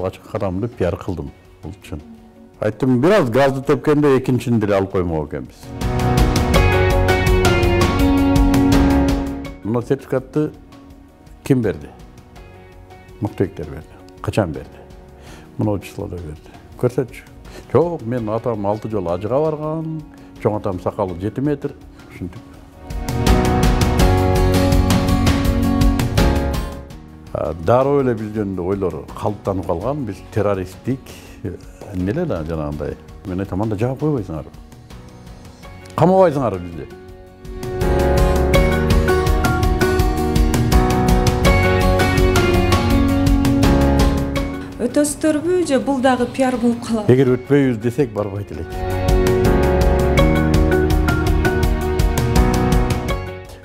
алгачкы кадамды пиар кылдым. Бул чын. Айттым, бир аз газды тепкенде экинчини деле алып коймок экенбиз. Мына сертификатты ким берди? Мыктыбектер берди. Качан берди? Мына числода берди. Көрсөтчү. Жок, мен атам 6 жолу ажыга барган, чоң атам сакалы 7 метр, ушинтип. Дароо эле бизден ойлор калыптанып калган, биз террористтик эмнеле да жанагындай. Мен айтам, анда жаап койбойсуңар. Камабайсыңар бизди. Өтөсүздөрбү же бул дагы пиар болуп калат? Эгер өтпөйбүз десек барбайт элек.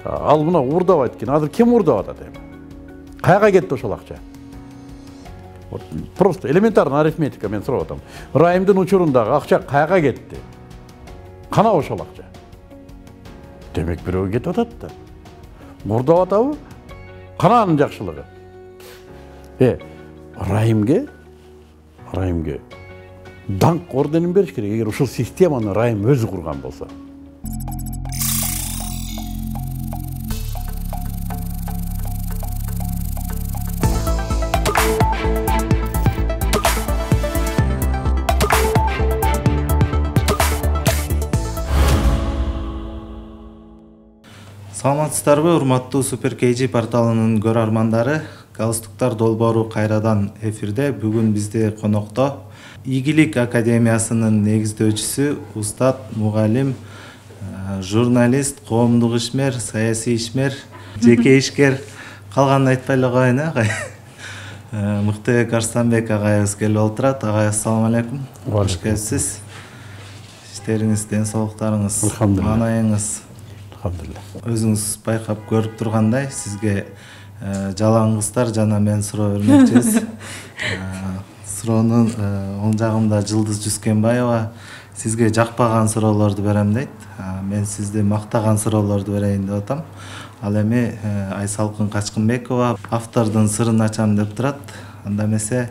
Ал мына уурдабайт экен. Азыр ким уурдап атат эми? Каяга кетти ошол акча? Вот просто элементарный арифметика мен сурап атам. Райымдын учурундагы акча каяга кетти? Кана ошол акча? Демек бирөө кетип атат да. Уурдап атабы? Кана анын жакшылыгы? Райымге даңк орденин бериш керек, эгер ушул системаны Райым өзү курган болсо. Саламатсыздарбы, урматтуу Супер KG порталынын көрөрмандары. Галстуктар долбоору кайрадан эфирде. Бүгүн бизде конокто Ийгилик академиясынын негиздөөчүсү, устат, мугалим, журналист, коомдук ишмер, саясий ишмер, жеке ишкер, калганын айтпай эле коеюн, Мыктыбек Арстанбек агайыбыз келип отурат. Агай, ассалам алейкум. Кош келипсиз. Иштериңиз, ден соолуктарыңыз, маанайыңыз. Өзүңүз байкап көрүп тургандай, сизге жалаңгыздар жана мен суроо бермекчибиз. Суроонун оң жагымда Жылдыз Жүскенбаева сизге жакпаган суроолорду берем дейт. Мен сизди мактаган суроолорду берейин деп атам. Ал эми Айсалкын Качкынбекова автордун сырын ачам деп турат. Анда эмесе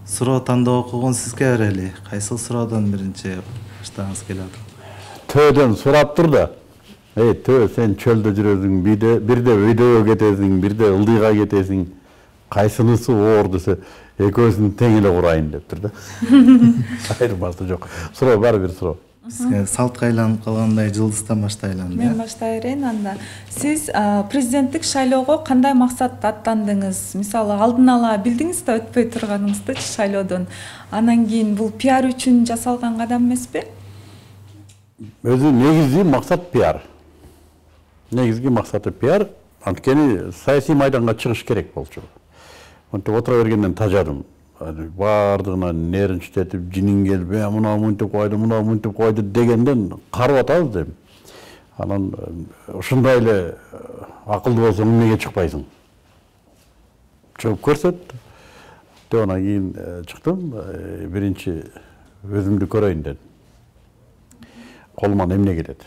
суроо тандоо укугун сизге берели. Кайсыл суроодон биринчи баштагыңыз келип атат? Төөдөн сурап тур да. Төө, сен чөлдө жүрөсүң, бирде өйдөгө кетесиң, бирде ылдыйга кетесиң. Кайсынысы оор десе, экөөсүн тең эле курайын деп тур да. Айырмасы жок. Суроо, баары бир суроо. Сизге салтка айланып калгандай Жылдыздан баштайлы. Мен баштай берейин анда. Сиз президенттик шайлоого кандай максатта аттандыңыз? Мисалы, алдын ала билдиңиз да өтпөй турганыңызды шайлоодон. Анан кийин бул пиар үчүн жасалган кадам эмеспи? Өзү негизги максат пиар. Негизги максаты пиар. Анткени саясий майданга чыгыш керек болчу. Монтип отура бергенден тажадым. Бардыгына нервинчитип, жинин келбей, мына мынтип койду, мына мынтип койду дегенден карып атабыз дейм. Анан ушундай эле акылдуу болсоң эмнеге чыкпайсың? Чыгып көрсөт. Деп анан кийин чыктым. Биринчи өзүмдү көрөйүн дедим. Колуман эмне келет?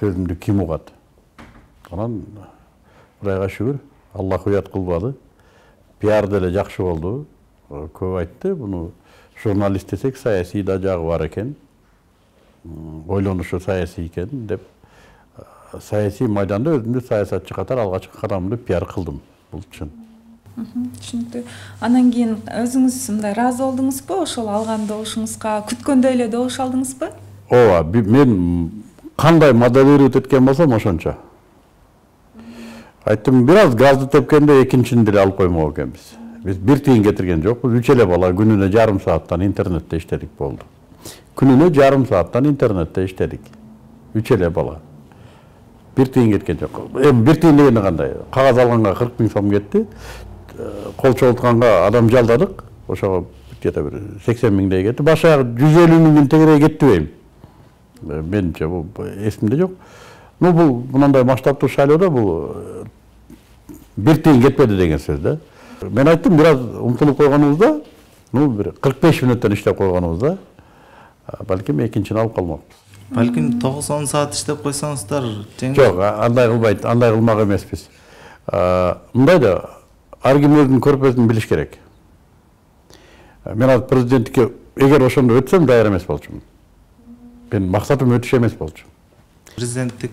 Сөзүмдү ким угат? Анан Кудайга шүгүр, Аллах уят кылбады. Пиар деле жакшы болду. Көп айтты, буну журналист десек саясий да жагы бар экен. Ойлонушу саясий экен деп саясий майданда өзүмдү саясатчы катары алгачкы кадамды пиар кылдым. Бул чын. Түшүнүктүү. Анан кийин өзүңүз мындай ыраазы болдуңузбу? Ошол алган добушуңузга күткөндөй эле добуш алдыңызбы? Ооба, мен кандай моделировать эткен болсом ошончо. Айттым, бир аз газды тепкенде экинчини деле алып коймок экенбиз. Биз бир тыйын кетирген жокпуз. 3 эле бала күнүнө жарым сааттан интернетте иштедик болду. Күнүнө жарым сааттан интернетте иштедик. 3 эле бала. Бир тыйын кеткен жок. Эми бир тыйын дегенде кандай? Кагаз алганга 40 000 сом кетти. Кол чогултканга адам жалдадык. Ошого где-то бир 80 000дей кетти. Башка 150 000 тегерей кетти дейм. Менимче бул эсимде жок. Ну бул мындай масштабтуу шайлоодо бул бир тыйын кетпеди деген сөз да. Мен айттым, бир аз умтулуп койгонубузда, бир 45 мүнөттөн иштеп койгонубузда, балким экинчини алып калмакпыз. Балким 9-10 саат иштеп койсоңуздар жеңил. Жок, андай кылбайт, андай кылмак эмеспиз. Мындай да, ар ким өзүнүн көрпөсүн билиш керек. Мен азыр президенттикке эгер ошондо өтсөм даяр эмес болчумун. Менин максатым өтүш эмес болчу. Президенттик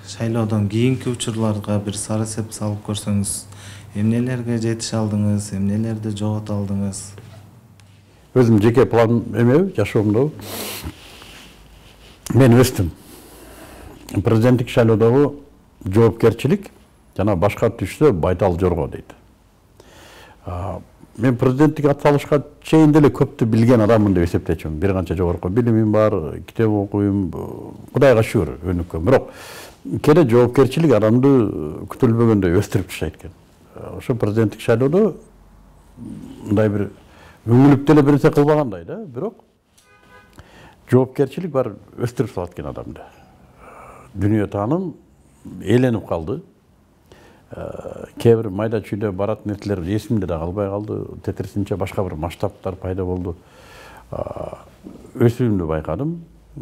шайлоодон кийинки учурларга бир сары сеп салып көрсөңүз, эмнелерге жетише алдыңыз, эмнелерди жогото алдыңыз? Өзüm жеке план эмеби, жашоомдо мен өстүм. Президенттик шайлоодогу жоопкерчилик жана башка түштө байтал жорго дейт. Мен президенттик атсалышка чейин деле көптү билген адаммын деп эсептечүмүн. Бир канча жогорку билимим бар, китеп окуйм, Кудайга шүгүр өнүккөн. Бирок кээде жоопкерчилик адамды күтүлбөгөндөй өстүрүп таштайт экен. Ошо президенттик шайлоодо мындай бир өңүлүп деле бир нерсе кылбагандай да, бирок жоопкерчилик бар өстүрүп салат экен адамды. Дүнүйө тааным ээленип калды. Кээ бир майда чүйдө барат нерселер эсимде да калбай калды. Тетирисинче башка бир масштабтар пайда болду. Өсүүмдү байкадым.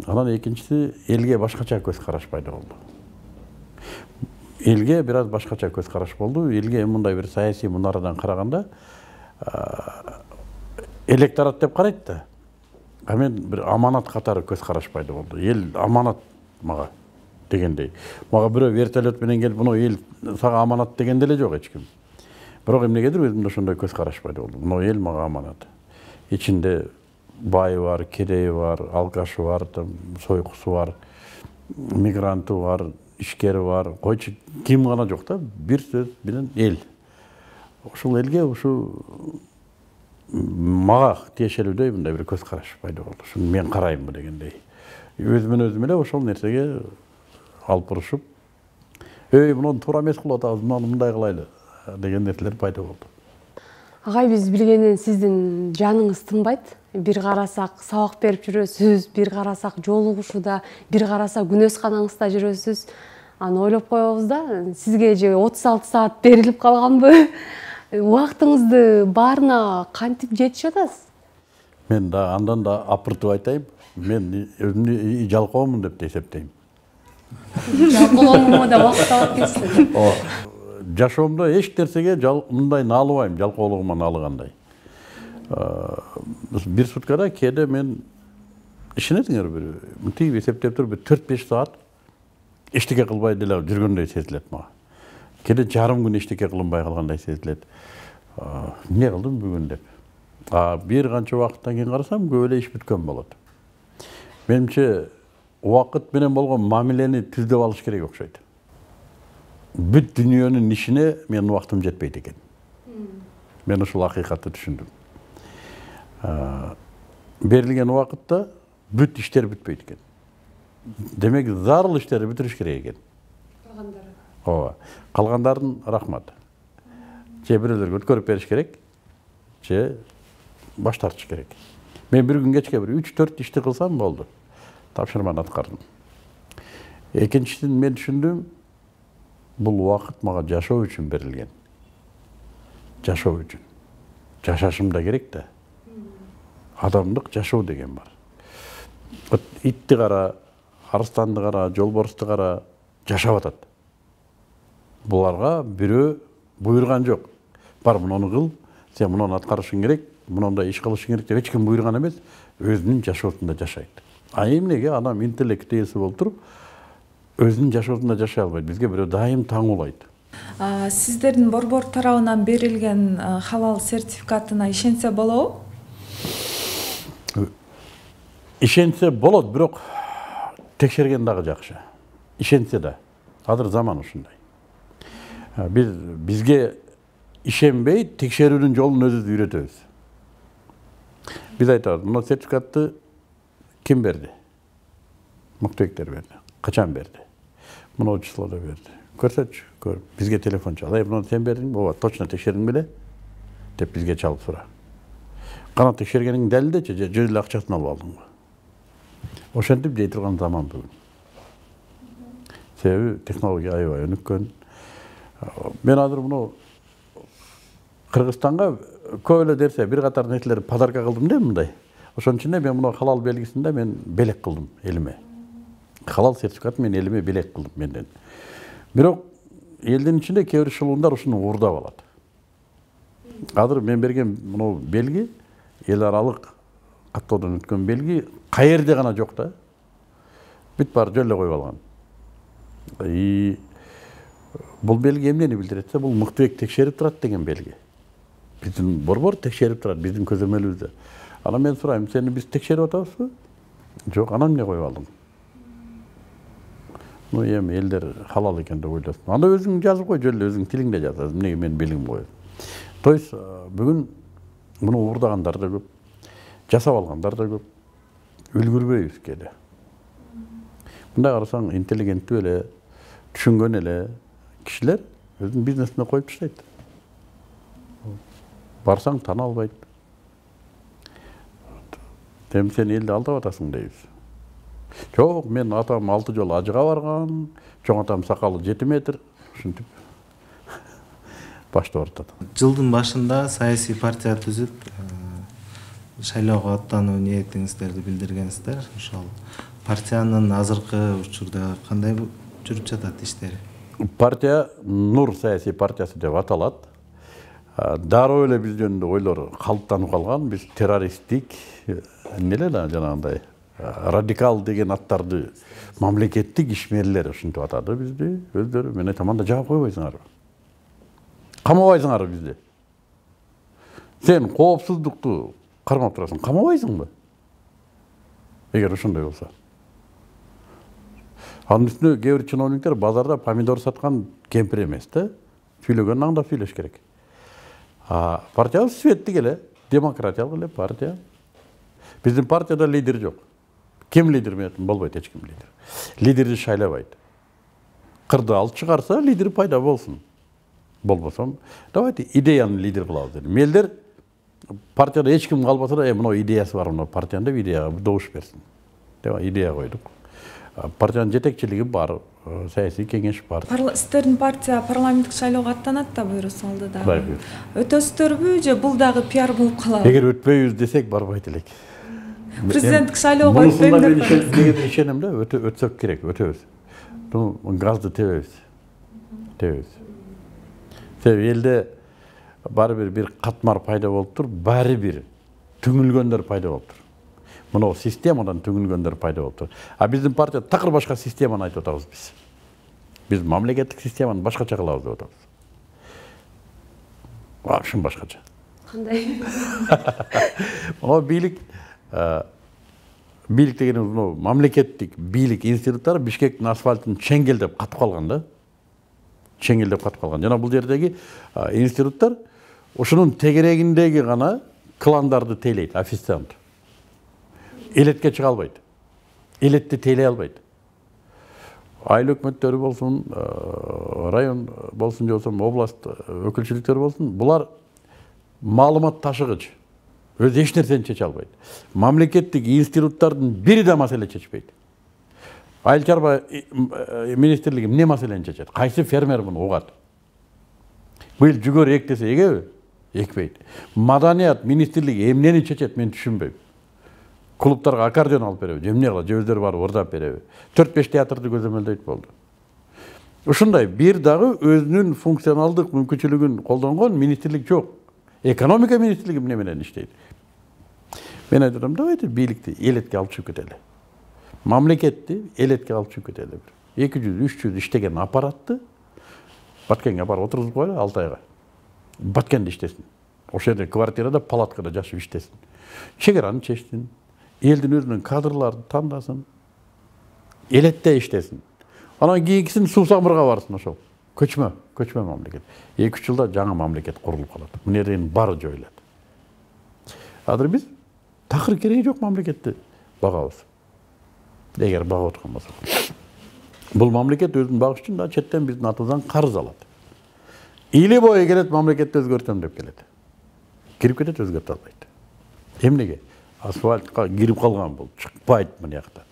Анан экинчиси элге башкача көз караш пайда болду. Элге бир аз башкача көз караш болду. Элге мындай бир саясий мунарадан караганда электорат деп карайт да. А мен бир аманат катары көз караш пайда болду. Эл аманат мага дегендей. Мага бирөө вертолет менен келип, мына эл сага аманат деген деле жок эч ким. Бирок эмнегедир өзүмдө ошондой көз караш пайда болду. Мына эл мага аманат. Ичинде байы бар, кедейи бар, алкашы бар, сойкусу бар, мигранты бар, ишкери бар. Койчу ким гана жок да, бир сөз менен эл. Ошол элге ушу мага тиешелүүдөй мындай бир көз караш пайда болду. Ушуну мен караймбы дегендей. Өзүмөн өзүм эле ошол нерсеге алып бурушуп, муну туура эмес кылып атабыз, муну мындай кылайлы деген нерселер пайда болду. Агай, биз билгенден сиздин жаныңыз тынбайт. Бир карасак сабак берип жүрөсүз, бир карасак жолугушууда, бир карасак күнөөсканаңызда жүрөсүз. Аны ойлоп коебуз да, сизге же 36 саат берилип калганбы? Убактыңызды баарына кантип жетишип атасыз? Мен да андан да апыртып айтайын, мен өзүмдү жалкоомун деп эсептейм. Жалкоолонууга да убакыт алып кетсин. Жашоомдо эч нерсеге мындай наалыбайм, жалкоолугуман налыгандай. Бир суткада кээде мен ишенесиңер бир мынтип эсептеп туруп 4-5 саат эчтеке кылбай деле жүргөндөй сезилет мага. Кээде жарым күн эчтеке кылынбай калгандай сезилет. Эмне кылдым бүгүн деп. Бир канча убакыттан кийин карасам көп эле иш бүткөн болот. Менимче убакыт менен болгон мамилени түздөп алыш керек окшойт. Бүт дүйнөнүн ишине менин убактым жетпейт экен. Мен ушул акыйкатты түшүндүм. Берилген убакытта бүт иштер бүтпөйт экен. Демек зарыл иштерди бүтүрүш керек экен. Ооба. Калгандарын рахмат. Же бирөөлөргө өткөрүп бериш керек, же баш тартыш керек. Мен бир күн кечке бир 3-4 ишти кылсам болду. Тапшырманы аткардым. Экинчисин мен түшүндүм, бул убакыт мага жашоо үчүн берилген. Жашоо үчүн. Жашашым да керек да. Адамдык жашоо деген бар. Итти кара, арстанды кара, жолборсту кара жашап атат. Буларга бирөө буйруган жок. Бар муну кыл, сен муну аткарышың керек, мындай иш кылышың керек деп эч ким буйруган эмес, өзүнүн жашоосунда жашайт. Эмнеге адам интеллект ээси болуп туруп, өзүнүн жашоосунда жашай албайт? Бизге бирөө дайым таңуулайт. Сиздердин борбор тарабынан берилген халал сертификатына ишенсе болобу? Ишенсе болот, бирок текшерген дагы жакшы. Ишенсе да. Азыр заман ушундай. Бизге ишенбей текшерүүнүн жолун өзүбүз үйрөтөбүз. Биз айтабыз, мына сертификатты ким берди? Муктебектер берди. Качан берди? Мына числода берди. Көрсөтчү, көр. Бизге телефон чал. Мына сен бердиң, ооба, точно текшердиң беле? Деп бизге чалып сура. Кана текшергениң далилдечи, же эле акчасын алып алдыңбы? Ошентип жей турган заман бүгүн. Себеби технология аябай өнүккөн. Мен азыр муну Кыргызстанга көп эле дерсе бир катар нерселер подарка кылдым да мындай. Ошонун ичинде мен муну халал белгисинде мен белек кылдым элиме. Халал сертификат мен элиме белек кылдым менден. Бирок элдин ичинде кээ бир шылуундар ушуну уурдап алат. Азыр мен берген муну белги эл аралык каттоодон өткөн белги каерде гана жок да. Бүт баары жөн эле коюп алган. Бул белги эмнени билдирет? Бул мыктыбек текшерип турат деген белги. Биздин борбор текшерип турат биздин көзөмөлүбүздө. Анан мен сурайм, сени биз текшерип атабызбы? Жок, анан эмне коюп алдың? Ну эми элдер халал экен деп ойлосун. Анда өзүң жазып кой, жөн эле өзүң тилиңде жазасың. Эмнеге менин белгим коет? То есть бүгүн муну уурдагандар да көп, жасап алгандар да көп. Үлгүрбөйбүз келе. Мындай карасаң, интеллигенттүү эле, түшүнгөн эле кишилер өзүнүн бизнесине коюп таштайт. Барсаң тана албайт. Эми сен элди алдап атасың дейбиз. Жок, мен атам 6 жолу ажыга барган, чоң атам сакалы 7 метр, ушинтип баштап атат. Жылдын башында саясий партия түзүп, шайлоого аттануу ниетиңиздерди билдиргенсиздер. Ошол партиянын азыркы учурда кандай жүрүп жатат иштери? Партия Нур саясий партиясы деп аталат. Дароо эле биз жөнүндө ойлор калыптанып калган. Биз террористтик, эмне да жанагындай радикал деген аттарды мамлекеттик ишмерлер ушинтип атады бизди. Өздөрү мен айтам, анда жаап койбойсуңарбы? Камабайсыңарбы бизди? Сен коопсуздукту кармап турасың, камабайсыңбы? Эгер ошондой болсо. Анын үстүнө кээ бир чиновниктер базарда помидор саткан кемпир эмес да. Сүйлөгөн аңдап сүйлөш керек. Партиябыз светтик эле, демократиялык эле партия. Биздин партияда лидер жок. Ким лидер менен болбойт, эч ким лидер. Лидерди шайлабайт. Кырды алып чыгарса, лидер пайда болсун. Болбосом, давайте идеяны лидер кылабыз дедим. Элдер партияда эч ким калбаса да, мына идеясы бар, мына партиянын деп идеяга добуш берсин. Деп идея койдук. Партиянын жетекчилиги бар, саясий кеңеш бар. Сиздердин партия парламенттик шайлоого аттанат да буйрусу алды да. Өтөсүздөрбү же бул дагы пиар болуп калабы? Эгер өтпөйбүз десек барбайт элек. Президенттик шайлоого өтпөйм деп атабыз. Мен ишенем да, өтсөк керек, өтөбүз. Газды тебебиз. Себеби элде баары бир катмар пайда болуп тур, баары бир түңүлгөндөр пайда болуп тур. Мына системадан түңүлгөндөр пайда болуп тур. Биздин партия такыр башка системаны айтып атабыз биз. Биз мамлекеттик системаны башкача кылабыз деп атабыз. Вообще башкача. Кандай? Бийлик дегенибиз мамлекеттик бийлик институттары Бишкектин асфальтын чеңгелдеп катып калган да. Чеңгелдеп катып калган. Жана бул жердеги институттар ошонун тегерегиндеги гана кландарды тейлейт, официант. Элетке чыга албайт. Элетти тейлей албайт. Айыл өкмөттөрү болсун, район болсун, же болсо область өкүлчүлүктөрү болсун, булар маалымат ташыгыч. Өз эч нерсени чече албайт. Мамлекеттик институттардын бири да маселе чечпейт. Айыл чарба министрлиги эмне маселени чечет? Кайсы фермер муну угат? Быйыл жүгөр эк десе эгеби? Экпейт. Маданият министрлиги эмнени чечет, мен түшүнбөйм. Клубтарга аккордеон алып береби, эмне кылат, же өздөрү барып ырдап береби. 4-5 театрды көзөмөлдөйт болду. Ушундай бир дагы өзүнүн функционалдык мүмкүнчүлүгүн колдонгон министрлик жок. Экономика министрлиги эмне менен иштейт? Мен айтам, давайте бийликти элетке алып чыгып кетели. Мамлекетти элетке алып чыгып кетели. 200-300 иштеген аппаратты Баткенге барып отургузуп коелу 6 айга. Баткенде иштесин. Ошол жерде квартирада, палаткада жашып иштесин. Чегераны чечсин. Элдин өзүнүн кадрларын тандасын. Элетте иштесин. Анан кийинкисин Суу-Самырга барсын ошол. Көчмө мамлекет. 2-3 жылда жаңы мамлекет курулуп калат. Мына жерден баары жоюлат. Азыр биз такыр кереги жок мамлекетти багабыз. Эгер багып аткан болсок. Бул мамлекет өзүн багыш үчүн да четтен биздин атыбыздан карыз алат. Или бою келет, мамлекетти өзгөртөм деп келет. Кирип кетет, өзгөртө албайт. Эмнеге? Асфальтка кирип калган бул, чыкпайт мына жакта.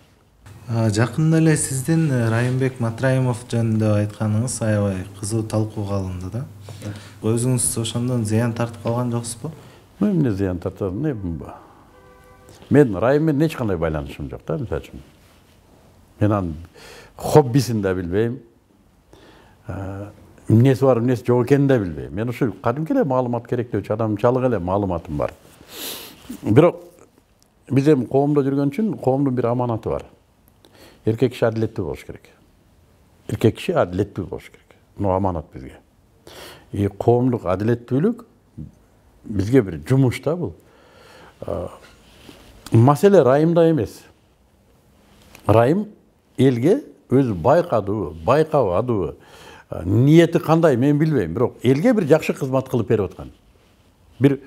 Жакында эле сиздин Райымбек Матраимов жөнүндө айтканыңыз аябай кызуу талкууга алынды да. Өзүңүз ошондон зыян тартып калган жоксузбу? Эмне зыян тартам? Мен Райым менен эч кандай байланышым жок да, мисалы үчүн. Мен анын хоббисин да билбейм. Эмнеси бар, эмнеси жок экенин да билбейм. Мен ушу кадимки эле маалымат керектөөчү адам, чалык эле маалыматым бар. Бирок биз эми коомдо жүргөн үчүн коомдун бир аманаты бар. Эркек киши адилеттүү болуш керек. Эркек киши адилеттүү болуш керек. Бул аманат бизге. Коомдук адилеттүүлүк бизге бир жумуш да бул. Маселе райымда эмес. Райым элге өзү байкадыбы, байкабадыбы, ниети кандай мен билбейм, бирок элге бир жакшы кызмат кылып берип аткан. Бир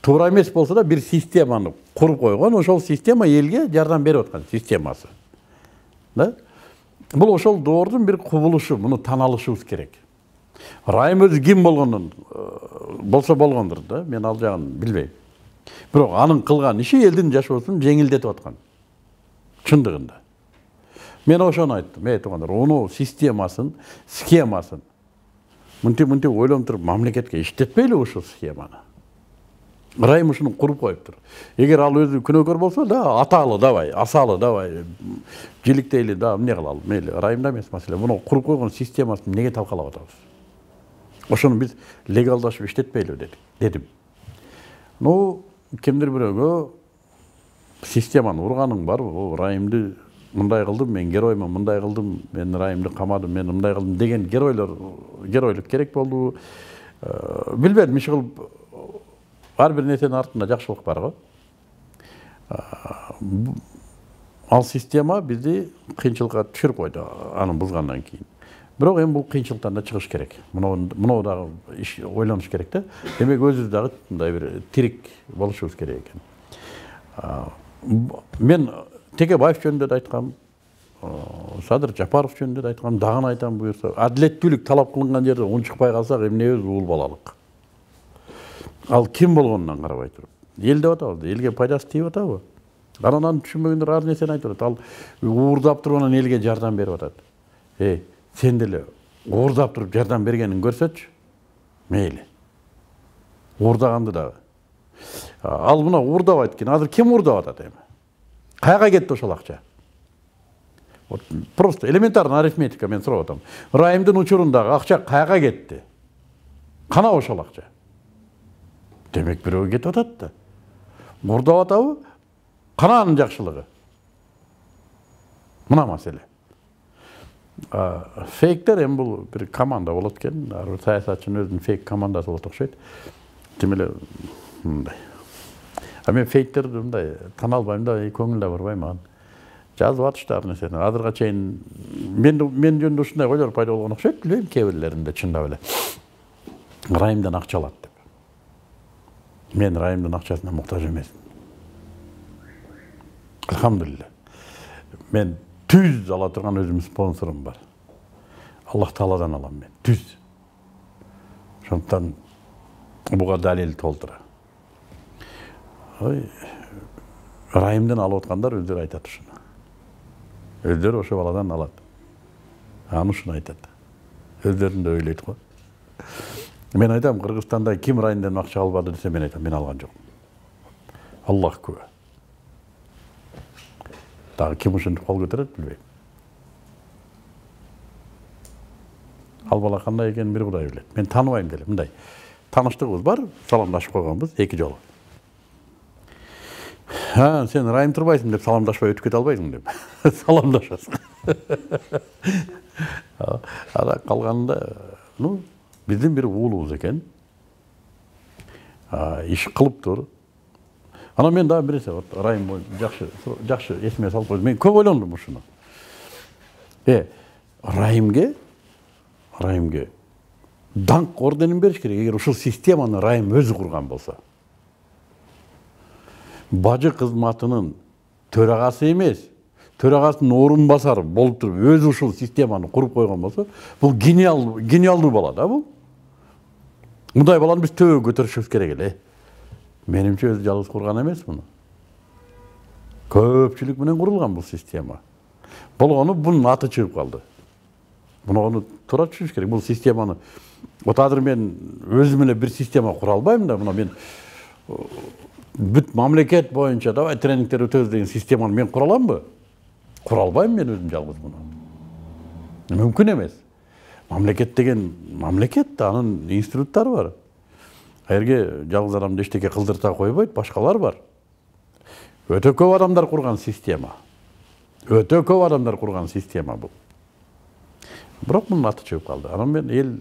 туура эмес болсо да бир системаны куруп койгон, ошол система элге жардам берип аткан системасы. Да? Бул ошол доордун бир кубулушу, муну тана алышыбыз керек. Райым өзү ким болгондон болсо болгондур да, мен ал жагын билбейм. Бирок анын кылган иши элдин жашоосун жеңилдетип аткан. Чындыгында. Мен ошону айттым, туугандар, ону системасын, схемасын мынтип ойлонуп туруп мамлекетке иштетпейли ушул схеманы. Райым ушуну куруп коюптур. Эгер ал өзү күнөөкөр болсо да, аталы давай, асалы давай, жиликтейли да, эмне кылалы? Мейли, райымда эмес маселе. Муну куруп койгон системасын неге талкалап атабыз? Ошону биз легалдашып иштетпейли дедим. Кимдир бирөөгө системаны урганың барбы? Райымды мындай кылдым, мен героймун, мындай кылдым, мен райымды камадым, мен мындай кылдым деген геройлук керек болду. Билбедим, иш кылып ар бир нерсенин артында жакшылык бар го. Ал система бизди кыйынчылыкка түшүрүп койду, аны бузгандан кийин. Бирок эми бул кыйынчылыктан да чыгыш керек. Муну дагы иш ойлонуш керек да. Демек өзүбүз дагы мындай бир тирик болушубуз керек экен. Мен Текебаев жөнүндө да айткам, Садыр Жапаров жөнүндө да айткам, дагы айтам буюрса, адилеттүүлүк талап кылынган жерде унчукпай калсак эмнебиз уул балалык. Ал ким болгонунан карабай туруп. Эл деп атабыз, элге пайдасы тийип атабы? Анан түшүнбөгөндөр ар нерсени айтып атат. Ал уурдап туруп анан элге жардам берип атат. Сен деле уурдап туруп жардам бергенин көрсөчү. Мейли. Уурдаганды дагы. Ал мына уурдабайт экен. Азыр ким уурдап атат эми? Каяга кетти ошол акча? Просто элементарный арифметика мен сурап атам. Райымдын учурундагы акча каяга кетти? Кана ошол акча? Демек бирөөгө кетип атат да. Уурдап атабы? Кана анын жакшылыгы? Мына маселе. Фейктер эми бул бир команда болот экен. Ар бир саясатчынын өзүнүн фейк командасы болот окшойт. Тим эле мындай. Мен фейктерди мындай тана албайм да, көңүл да барбай мага. Жазып атыштыр нерсени. Азырга чейин мен жөнүндө ушундай ойлор пайда болгон окшойт, билбейм, кээ бирлеринде чындап эле. Райымдан акча алат деп. Мен райымдын акчасына муктаж эмесмин. Алхамдулилля. Мен түз ала турган өзүмдүн спонсорум бар. Аллах Тааладан алам мен. Түз. Ошондуктан буга далил толтура. Райымдан алып аткандар өздөрү айтат ушуну. Өздөрү ошо баладан алат. Аны ушуну айтат. Өздөрүн да ойлойт го. Мен айтам, Кыргызстанда ким райымдан акча албады десе, мен айтам, мен алган жокмун. Аллах күбө. Дагы ким ушинтип кол көтөрөт билбейм. Ал бала кандай экенин бир Кудай билет. Мен тааныбайм деле, мындай. Тааныштыгыбыз бар, саламдашып койгонбуз 2 жолу. Сен райым турбайсың деп саламдашпай өтүп кете албайсың деп. Саламдашасың. Ара калганда, биздин бир уулубуз экен. Иш кылыптыр. Анан мен дагы бир нерсе райым жакшы эсиме салып койдум. Мен көп ойлондум ушуну. Райымге даңк орденин бериш керек, эгер ушул системаны райым өзү курган болсо. Бажы кызматынын төрагасы эмес, төрагасынын орун басары болуп туруп, өзү ушул системаны куруп койгон болсо, бул гениалдуу бала да бул. Мындай баланы биз төбөгө көтөрүшүбүз керек эле. Менимче өзү жалгыз курган эмес муну. Көпчүлүк менен курулган бул система. Болгону бунун аты чыгып калды. Муну туура түшүнүш керек. Бул системаны азыр мен өзүм эле бир система кура албайм да. Мына мен бүт мамлекет боюнча давай тренингтер өтөбүз деген системаны мен кура аламбы? Кура албайм мен өзүм жалгыз муну. Мүмкүн эмес. Мамлекет деген мамлекет, анын институттары бар. Жерге жалгыз адамды эчтеке кылдырта койбойт, башкалар бар. Өтө көп адамдар курган система. Өтө көп адамдар курган система бул. Бирок мунун аты чыгып калды. Анан мен эл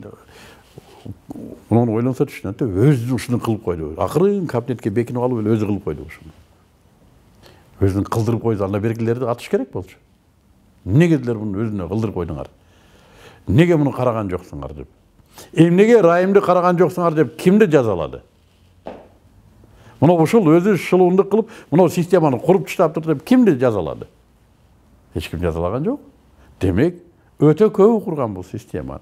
муну ойлонсо түшүнөт, өзү ушуну кылып койду. Акырын кабинетке бекинип алып эле өзү кылып койду ушуну. Өзүн кылдырып койду, анда бергилерди атыш керек болчу. Неге делер муну өзүнө кылдырып койдуңар? Неге муну караган жоксуңар деп. Эмнеге Райымды караган жоксуңар деп кимди жазалады? Мына ушул өзү шылуундук кылып, мына системаны куруп таштаптыр деп кимди жазалады? Эч ким жазалаган жок. Демек, өтө көбү курган бул системаны.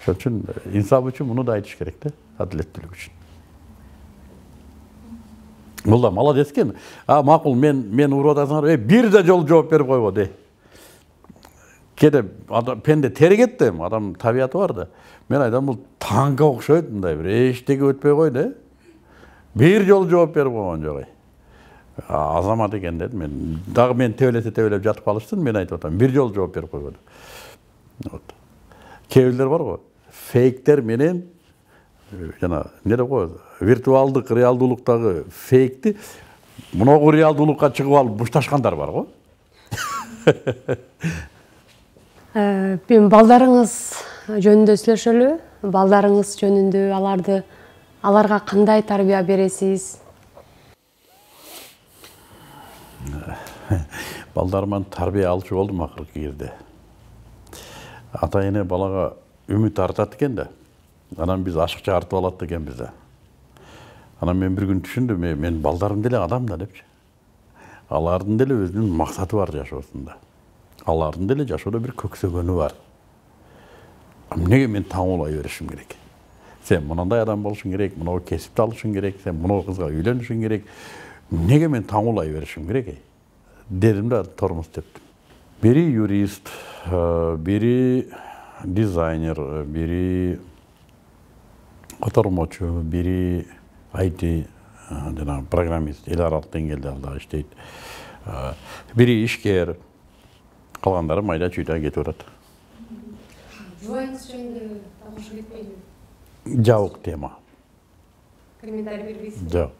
Ошон үчүн инсап үчүн муну да айтыш керек да, адилеттүүлүк үчүн. Бул да молодец экен. Макул, мен уруп атасыңар, бир да жолу жооп берип койбо де. Кеде пенде тергет да, адам табияты бар да. Мен айтам, бул танка окшойт, мындай бир эчтеке өтпөй кой да. Бир жолу жооп берип койгон жок. Азамат экен дедим мен. Дагы мен тебелеп жатып калыштын, мен айтып атам, бир жолу жооп берип койбоду. Вот. Кээ бирлер бар го, фейктер менен жана эмне деп коет, виртуалдык реалдуулуктагы фейкти муногу реалдуулукка чыгып алып бушташкандар бар го. Мен балдарыңыз жөнүндө сүйлөшөлү. Балдарыңыз жөнүндө аларга кандай тарбия бересиз? Балдарыман тарбия алчу болдум акыркы кезде. Ата-эне балага үмүт артат экен да. Анан биз ашыкча артып алат экенбиз да. Анан мен бир күн түшүндүм, мен балдарым деле адам да депчи. Алардын деле өзүнүн максаты бар жашоосунда. Алардын деле жашоодо бир көксөгөнү бар. Эмнеге мен таңуулай беришим керек? Сен мынандай адам болушуң керек, мынау кесипти алышың керек, сен мынау кызга үйлөнүшүң керек. Эмнеге мен таңуулай беришим керек? Дедим да тормоз тептим. Бири юрист, бири дизайнер, бири котормочу, бири IT жана программист, эл аралык деңгээлде алда иштейт. Бири ишкер, калгандары майда чүйдө кетип атат. Жубайыңыз жөнүндө тагыш кетпейби? Жабык тема. Комментарий бербейсизби? Жок.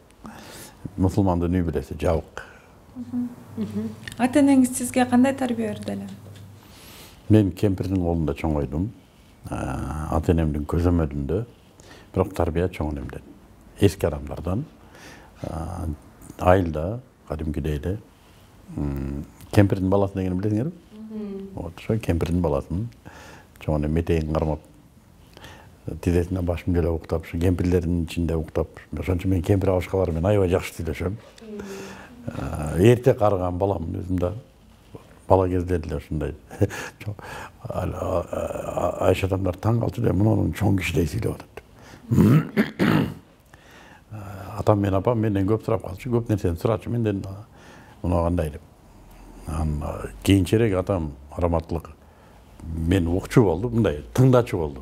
Мусулмандын үй бүлөсү жабык. Ата-энеңиз сизге кандай тарбия берди эле? Мен кемпирдин колунда чоңойдум. Ата-энемдин көзөмөлүндө, бирок тарбия чоң энемден. Эски адамдардан, айылда, кадимкидей эле. Кемпирдин баласы дегенди билесиңерби? Вот, ошо кемпирдин баласын чоң энем метейин кармап, тизесине башым деле уктап, ушу кемпирлердин ичинде уктап. Ошон үчүн мен кемпир абышкалар менен аябай жакшы сүйлөшөм. Эрте карыган баламын өзүм да. Бала кезде деле ушундай. Айша адамдар таң калчу да, мунун чоң кишидей сүйлөп атат. Атам менен апам менден көп сурап калчу, көп нерсени сурачу менден. Муну кандай деп. Кийинчерээк атам раматтылык мен укчу болду, мындай тыңдачу болду.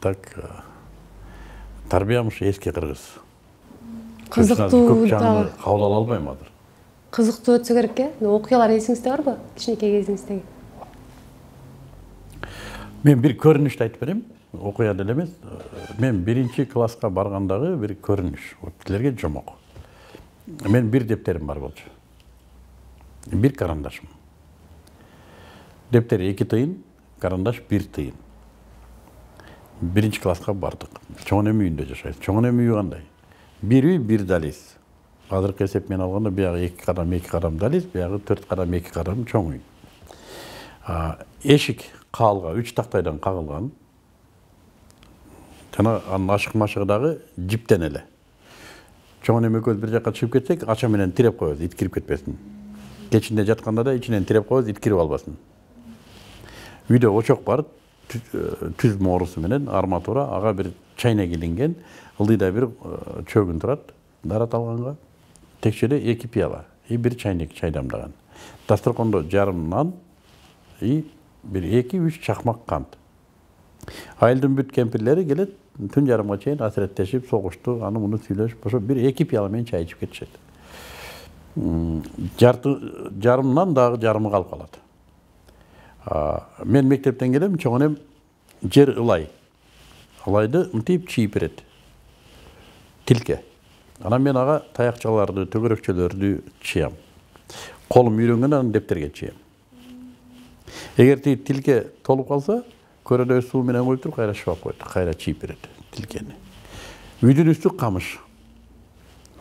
Так тарбиям ушу эски кыргыз. Кызыктуу да кабыл ала албайм азыр. Кызыктуу өтсө керек э? Окуялар эсиңизде барбы? Кичинекей кезиңиздеги? Мен бир көрүнүштү айтып берем. Окуя деле эмес. Мен 1-класска баргандагы бир көрүнүш. Силерге жомок. Мен бир дептерим бар болчу. Бир карандашым. Дептер 2 тыйын, карандаш 1 тыйын. 1-класска бардык. Чоң энем үйүндө жашайт. Чоң энем үйү кандай? Бир үй, бир дализ. Азыркы эсеп менен алганда биягы 2 кадам дализ, биягы 4 кадам 2 кадам чоң үй. Эшик каалга 3 тактайдан кагылган. Жана анын ашык-машыгы дагы жиптен эле. Чоң энем экөөбүз бир жакка чыгып кетсек, ача менен тиреп коебуз, ит кирип кетпесин. Кечинде жатканда да ичинен тиреп коебуз, ит кирип албасын. Үйдө очок бар, түз моорусу менен арматура, ага бир чайнек илинген, ылдыйда бир чөгүн турат, дарат алганга. Текчеде 2 пияла, бир чайнек чай дамдаган. Дасторкондо жарым нан, бир 2-3 чакмак кант. Айылдын бүт кемпирлери келет, түн жарымга чейин асыреттешип, согушту, аны муну сүйлөшүп, ошо бир 2 пияла менен чай ичип кетишет. Жарымнан дагы жарымы калып калат. Мен мектептен келем, чоң энем жер ылай. Ылайды мынтип чийип берет. Тилке. Анан мен ага таякчаларды, төгөрөкчөлөрдү чыям. Колум үйрөнгөн анан дептерге чыям. Эгер тилке толуп калса, көрөдө суу менен коюп туруп кайра шыбап коет, кайра чийип берет тилкени. Үйдүн үстү камыш.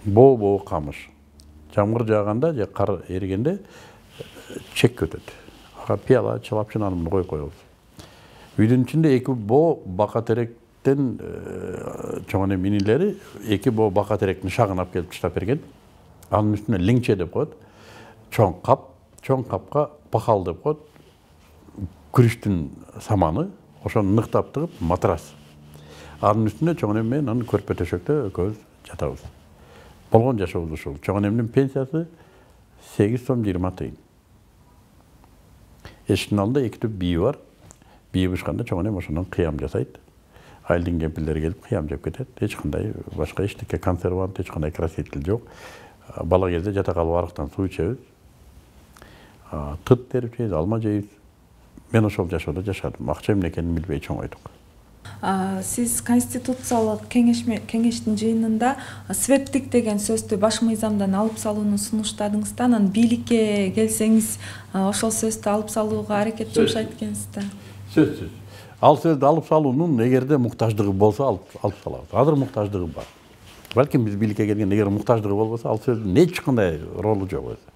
Боо камыш. Жамгыр жааганда же кар эригенде чек өтөт. Ага пияла, чалапчын коюп коебуз. Үйдүн ичинде эки боо бака теректен чоң эне инилери эки боо бака теректин шагын алып келип таштап берген. Анын үстүнө лиңче деп коет. Чоң капка пахал деп коет. Күрүчтүн саманы, ошону ныктап тыгып матрас. Анын үстүнө чоң эне менен анын көрпө төшөктө экөөбүз жатабыз. Болгон жашообуз ушул. Чоң энемдин пенсиясы 8 сом 20 тыйын. Эшиктин алдында эки түп бийи бар. Бийи бышканда чоң энем ошондон кыям жасайт. Айылдын кемпирлери келип кыям жеп кетет. Эч кандай башка эчтеке консервант, эч кандай краситель жок. Бала кезде жата калып арыктан суу ичебиз. Тыт терип жейбиз, алма жейбиз. Мен ошол жашоодо жашадым. Акча эмне экенин билбей чоңойдук. Сиз Конституциялык кеңештин жыйынында светтик деген сөздү баш мыйзамдан алып салууну сунуштадыңыз да, анан бийликке келсеңиз ошол сөздү алып салууга аракет жумшайт экенсиз да. Сөзсүз. Ал сөздү алып салуунун эгерде муктаждыгы болсо алып салабыз. Азыр муктаждыгы бар. Балким биз бийликке келген эгер муктаждыгы болбосо, ал сөздүн эч кандай ролу жок өзү.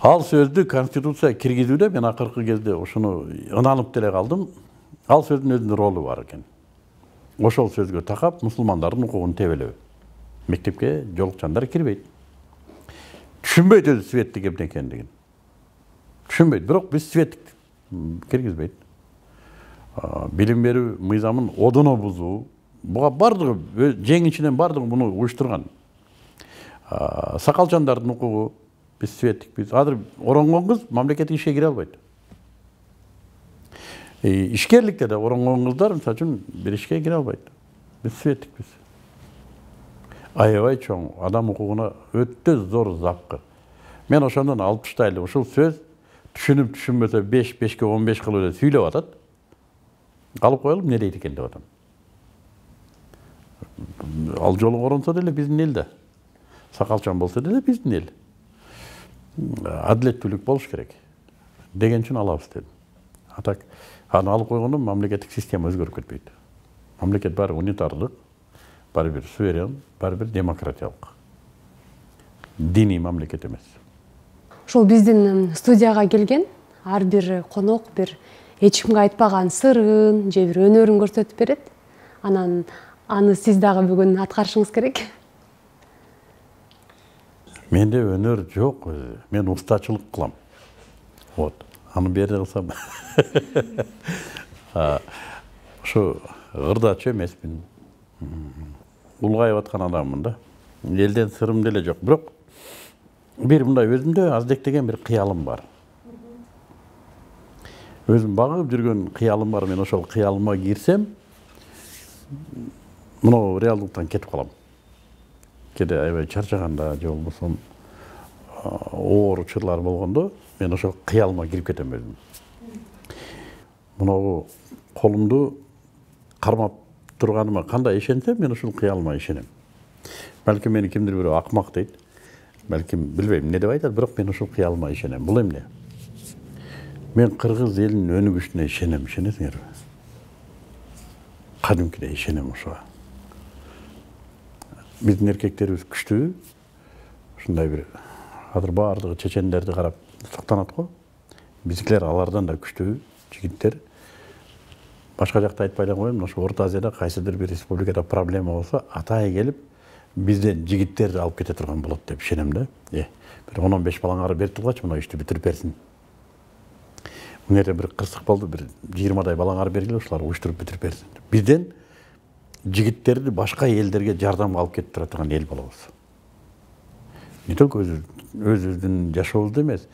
Ал сөздү Конституция киргизүүдө мен акыркы кезде ошону ынанып деле калдым. Ал сөздүн өзүнүн ролу бар экен. Ошол сөзгө такап мусулмандардын укугун тебелеби. Мектепке жолукчандар кирбейт. Түшүнбөйт өзү светтик эмне экендигин. Түшүнбөйт, бирок биз светтик киргизбейт. Билим берүү мыйзамын одоно бузуу. Буга бардыгы жең ичинен бардыгы муну уюштурган. Сакалчандардын укугу биз светтикпиз. Азыр оронгон кыз мамлекеттик ишке кире албайт. Ишкерликте да оронгон кыздар мисалы үчүн бир ишке кире албайт. Биз светтикпиз. Аябай чоң адам укугуна өтө зор запкы. Мен ошондон алып таштайлы. Ушул сөз түшүнүп түшүнбөсө 5-5ке 15 кылып эле сүйлөп атат. Алып коелуп эмне дейт экен деп атам. Ал жолу коронсо деле биздин эл да. Сакалчан болсо деле биздин эл. Адилеттүүлүк болуш керек. Деген үчүн алабыз дедим. Атак аны алып койгондо мамлекеттик система өзгөрүп кетпейт. Мамлекет баары унитардык, баары бир суверен, баары бир демократиялык. Диний мамлекет эмес. Ошол биздин студияга келген ар бир конок бир эч кимге айтпаган сырын же бир өнөрүн көрсөтүп берет. Анан аны сиз дагы бүгүн аткарышыңыз керек. Менде өнөр жок. Мен устачылык кылам. Вот. Аны берде кылсам. Ошо ырдачы эмесмин. Улгайып аткан адаммын да. Элден сырым деле жок. Бирок бир мындай өзүмдө аздектеген бир кыялым бар. Өзүм багып жүргөн кыялым бар. Мен ошол кыялыма кирсем, мына реалдыктан кетип калам. Кеде аябай чарчаганда же болбосо оор учурлар болгондо мен ошол кыялыма кирип кетем өзүм. Мына колумду кармап турганыма кандай ишенсем, мен ушул кыялыма ишенем. Балким мени кимдир бирөө акмак дейт. Балким билбейм эмне деп айтат, бирок мен ушул кыялыма ишенем. Бул эмне? Мен кыргыз элинин өнүгүшүнө ишенем, ишенесиңерби? Кадимкидей ишенем ошого. Биздин эркектерибиз күчтүү. Ушундай бир азыр баардыгы чечендерди карап сактанат го. Биздикилер алардан да күчтүү жигиттер. Башка жакта айтпай эле коеюн, ошо Орто Азияда кайсыдыр бир республикада проблема болсо, атай келип бизден жигиттерди алып кете турган болот деп ишенем да. Бир 10-15 балаңары берип тургачы мына ишти бүтүрүп берсин. Мына бир кырсык болду, бир 20дай балаңары бергиле, ушулар уюштуруп бүтүрүп берсин. Бизден жигиттерди башка элдерге жардамга алып кетип тура турган эл болобуз. Не только өзүбүздүн жашообузду эмес,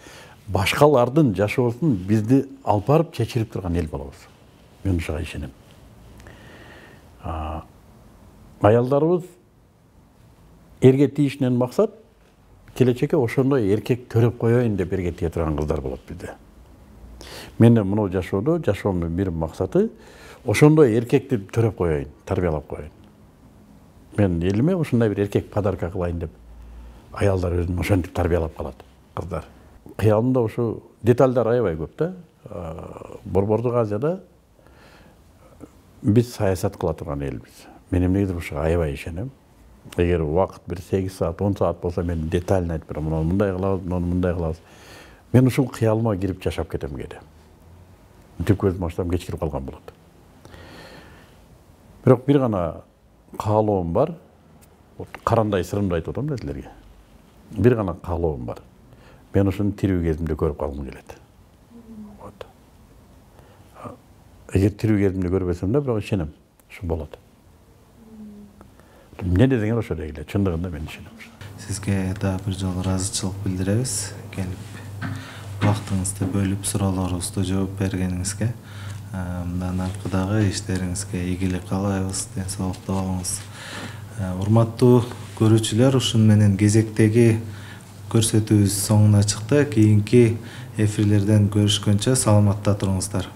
башкалардын жашоосун бизди алып барып чечирип турган эл болобуз. Мен ушуга ишенем. Аялдарыбыз эрге тийишинен максат келечекке ошондой эркек төрөп коеюн деп эрге тие турган кыздар болот бизде. Менин мына жашоомдун бир максаты ошондой эркекти төрөп коеюн, тарбиялап коеюн. мен элиме ушундай бир эркек подарка кылайын деп аялдар өзүн ошентип тарбиялап калат кыздар. Кыялымда ушу детальдар аябай көп да. Борбордук Азияда биз саясат кыла турган элбиз. Мен эмнегедир ушуга аябай ишенем. Эгер убакыт бир 8 саат, 10 саат болсо мен детально айтып берем. Муну мындай кылабыз, муну мындай кылабыз. Мен ушул кыялыма кирип жашап кетем кээде. Мынтип көзүм ачсам кечкирип калган болот. Бирок бир гана каалоом бар. Карандай сырымды айтып атам да силерге. Бир гана каалоом бар. Мен ушуну тирүү кезимде көрүп калгым келет. Вот. Эгер тирүү кезимде көрбөсөм да, бирок ишенем, ушу болот. Эмне десеңер ошо дегиле, чындыгында мен ишенем. Сизге да бир жолу ыраазычылык билдиребиз. Келип убактыңызды бөлүп суроолорубузга жооп бергениңизге. Мындан аркадагы иштериңизге ийгилик каалайбыз, ден соолукта болуңуз. Урматтуу көрүүчүлөр, ушун менен кезектеги көрсөтүүбүз соңуна чыкты. Кийинки эфирлерден көрүшкөнчө саламатта туруңуздар.